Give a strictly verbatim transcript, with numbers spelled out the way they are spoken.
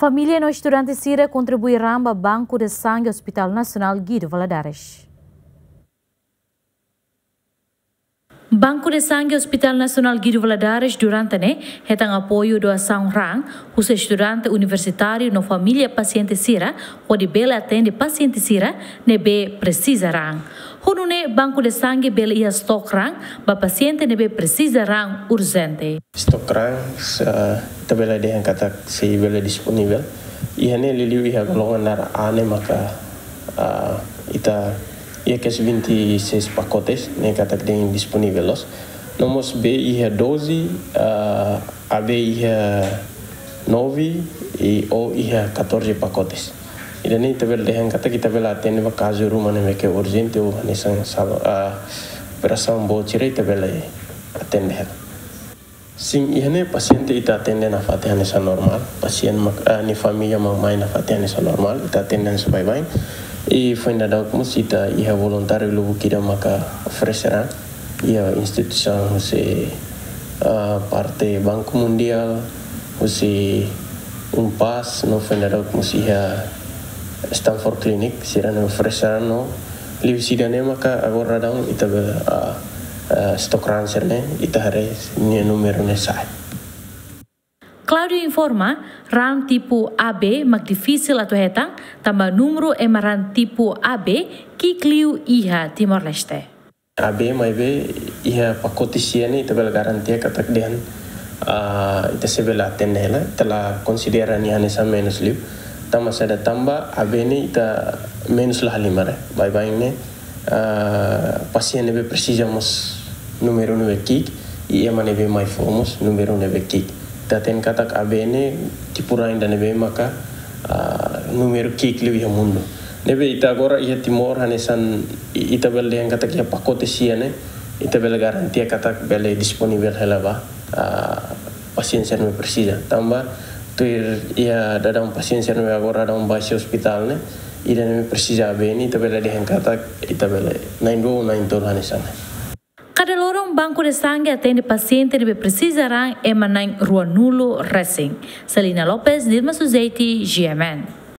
Família no estudante sira kontribui raan ba Banku de Sange Hospital Nasionál Guido Valadares. Banku de Sange Hospital Nasionál Guido Valadares durante ne'e hetan apoiu doasaun raan husi estudante universitáriu no família pasiente sira, hodi bele atende pasiente sira ne'ebé presiza raan. Ho nune'e Banku de Sange bele iha stok raan ba pasiente ne'ebé presiza raan urjente. Stok raan, se, ita bele dehan katak sei bele disponivel. Iha ne'e liuliu iha golongan na'ra A ne'e maka, ah, ita iha kes vinte e seis pacotes ne'e katak dehan disponivel loos. No mós B iha doze, ah, A B iha nove i O iha catorze pacotes. Ida-ne'e ita bele dehan katak ita bele atende ba kazu ruma ne'ebé ke urjente ou hanesan sal-, ah, operasaun boot sira ita bele atende hela. Sin, iha ne'e pasiente ita atende nafatin hanesan normál, pasiente mak, ah, nia família mak mai nafatin hanesan normál, ita atende hanesan baibain. I foin daudauk mós ita iha voluntáriu lubuk ida maka oferese raan, iha instituisaun husi, ah, parte Banku Mundiál, husi UNPAZ, no foin daudauk mós iha Stanford Clinic, sira-ne'e oferese raan no liuhusi ida-ne'e maka agora daudaun ita bele, ah, ah, stok raan sira-ne'e, ita haree nia númeru ne'e sa'e. Claudio informa, raan tipu A B mak difisil atu hetan, tanba númeru ema raan tipu A B ki'ik liu iha Timor-Leste. A B maibé iha pakote sia ne'e ita bele garantia katak dehan, ah, ita sei bele atende hela, ita la konsidera nia hanesan menus liu. Tanba saida? Tanba A B ne'e ita menus la halimar. Baibain ne'e, ah, pasiente ne'ebé presiza mós númeru ne'ebé ki'ik, i ema ne'ebé mai fó mós númeru ne'ebé ki'ik. Ita hatene katak A B ne'e tipu raan ida ne'ebé maka, ah, númeru ki'ik liu iha mundu. Ne'ebé ita agora iha Timor hanesan i-, ita bele dehan katak iha pakote sia ne'e, ita bele garantia katak bele disponivel hela ba, ah, pasiente sira ne'ebé presiza. Tanba tuir iha daudaun pasiente sira ne'ebé agora daudaun bá husi ospitál ne'e, ida ne'ebé presiza A B ne'e, ita bele dehan katak ita bele na'in-rua, na'in-tolu hanesan ne'e. Kada loron Banku de Sange atende pasiente ne'ebé presiza raan ema na'in-ruanulu resin. Celina Lopes, Dilma Suzeti, G M N.